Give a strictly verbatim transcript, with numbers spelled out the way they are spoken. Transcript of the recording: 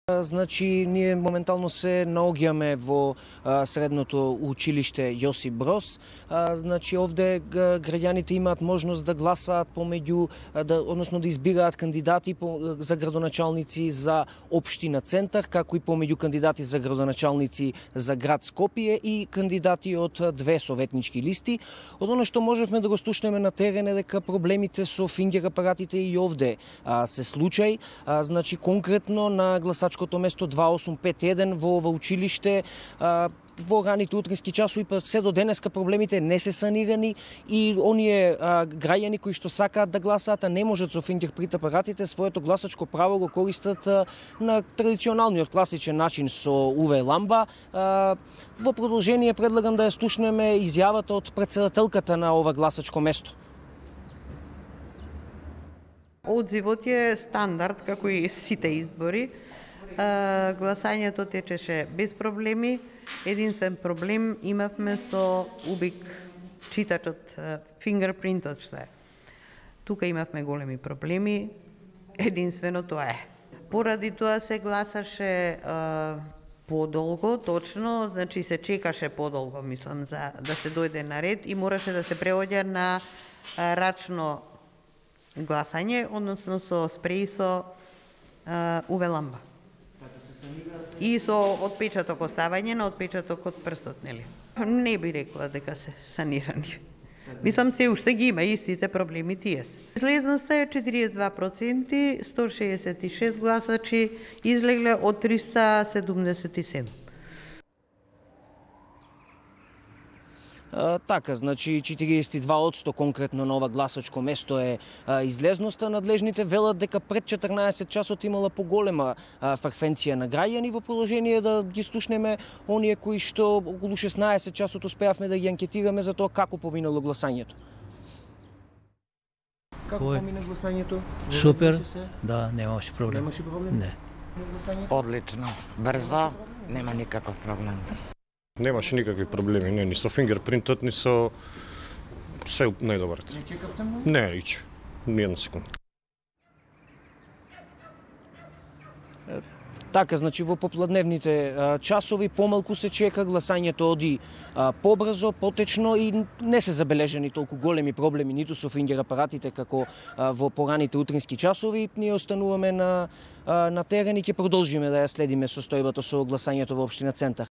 Значи, ние моментално се наоѓаме во а, средното училиште Јосип Броз. А, значи, овде граѓаните имаат можност да гласаат помеѓу, да, односно да избираат кандидати по, за градоначалници за општина Центар, како и помеѓу кандидати за градоначалници за град Скопје и кандидати од две советнички листи. Од оно што можевме да го слушнеме на терен е дека проблемите со фингер апаратите и овде а, се случај. А, значи, конкретно на гласачкото место два осум пет еден во ова училиште а, во раните утрински часови, па се до денеска проблемите не се санирани и оние а, граѓани кои што сакаат да гласаат, а не можат со фингерпринт апаратите, своето гласачко право го користат а, на традиционалниот класичен начин со ю ви ламба. А, во продолжение предлагам да ја слушнеме изјавата од претседателката на ова гласачко место. Одзивот е стандард, како и сите избори. Гласањето течеше без проблеми. Единствен проблем имавме со убик читачот, фингерпринтот што е. Тука имавме големи проблеми. Единствено тоа е. Поради тоа се гласаше а, подолго, точно, значи се чекаше подолго, мислам, за да се дојде на ред и мораше да се преоѓа на а, рачно гласање, односно со спреј со ю ви ламба. И со отпечаток, оставање на отпечаток од прстот, нели? Не би рекла дека се санирани. Мислам, се уште ги има истите проблеми тие се. Излезноста е четириесет и два проценти, сто шеесет и шест гласачи излегле од триста седумдесет и седум. А, така, значи четириесет и два одсто конкретно на ова гласачко место е а, излезноста. Надлежните велат дека пред четрнаесет часот имала поголема а, фреквенција на граѓани. Во продолжение да ги слушнеме оние кои што околу шеснаесет часот успеавме да ги анкетираме за тоа како поминало гласањето. Како Кој? помина гласањето? Супер, да, немаше проблем. Немаше проблем? Не. Одлично, брзо, нема никаков проблем. Немаше никакви проблеми, не, ни со фингерпринтот, ни со се најдобарот. Не чекавте многу? Не, ич, ни една секунда. Така, значи во попладневните а, часови помалку се чека, гласањето оди а, побрзо, потечно и не се забележани толку големи проблеми ниту со фингер апаратите како а, во пораните утрински часови. Ние остануваме на, а, на терен и ќе продолжиме да ја следиме состојбата со гласањето во општина Центар.